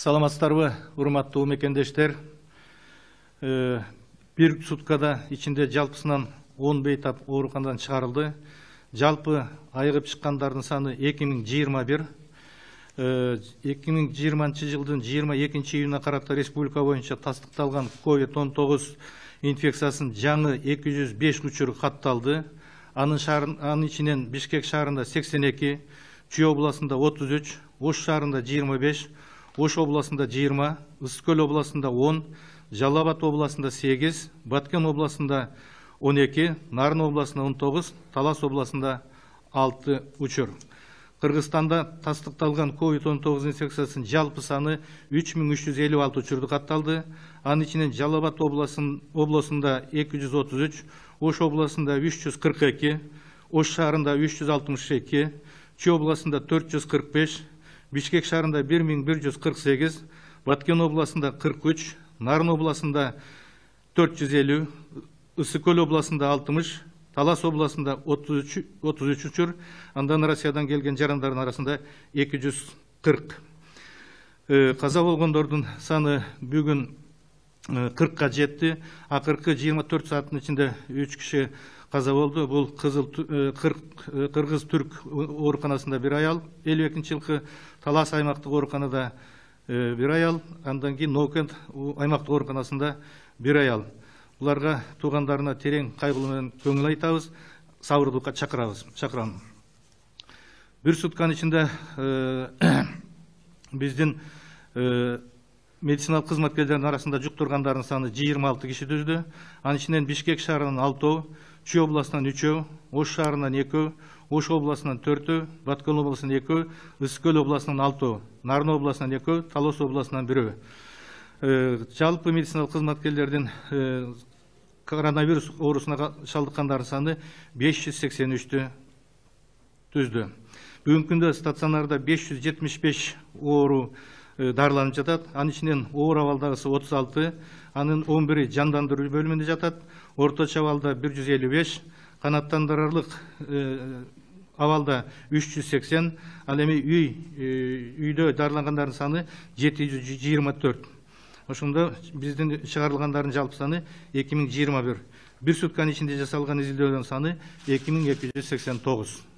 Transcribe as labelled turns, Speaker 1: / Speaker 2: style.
Speaker 1: Саламатсыздарбы, урматтуу мекендештер. Бир суткада ичинде жалпысынан 10 бейтап ооруканадан чыгарылды. Жалпы айыгып чыккандардын саны 2021. 2020 жылдын 22 июнуна карата республика боюнча тастыкталган COVID-19 инфекциясынын жаңы 205 учуру катталды. Анын ичинен Бишкек шаарында 82, Чүй областында 33, Ош шаарында 25, Ош областында 20, Ысык Көл областында 10, Жалал Абад областында 8, Баткен областында 12, Нарын областында 19, Талас областында 6 учур. Кыргызстанда тастыкталган COVID-19 инфекциясынын жалпы саны 3356 учурду катталды. Анын ичинен Жалал Абад областында 233, Ош областында 342, Ош шаарында 362, Чүй областында 445, Бишкек шаарында 1148, Баткен областында 43, Нарын областында 450, Ысык Көл областында 60, Талас областында 33 учур, андан Россиядан келген жарандардын арасында 240. Каза болгондордун саны бүгүн 40-ка жетти. Акыркы 24 сааттын ичинде 3 киши каза болду. Бул Кыргыз-Түрк ооруканасында бир аял, 52-жылкы Талас аймактык ооруканада бир аял, андан кийин Ноокент аймактык ооруканасында бир аял. Буларга туугандарына терең кайгылуу менен көңүл айтабыз, сабырдуулукка чакырам. Бир сутканын ичинде биздин медициналык кызматкерлердин арасында жуктургандардын саны 26 киши түздү. Анын ичинен Бишкек шаарынан 6, Чүй областынан 3, Ош шаарынан 2, Ош областынан 4, Баткен областынан 2, Ысык Көл областынан 6, Нарын областынан 2, Талас областынан 1. Жалпы медициналык кызматкерлердин коронавирус оорусуна шалдыккандардын саны 583 түздү. Бүгүнкү күндө стационарда 575 оору дарыланып жатат. Анын ичинен оор абалдагысы 36, анын 11-и жандандыруу бөлүмүндө жатат. Орточо абалда 155, канааттандырарлык абалда 380, ал эми үйдө дарылангандардын саны 724. Ошондо биздин чыгарылгандардын жалпы саны 2021. Бир сутканын ичинде жасалган изилдөөлөрдүн саны 2289.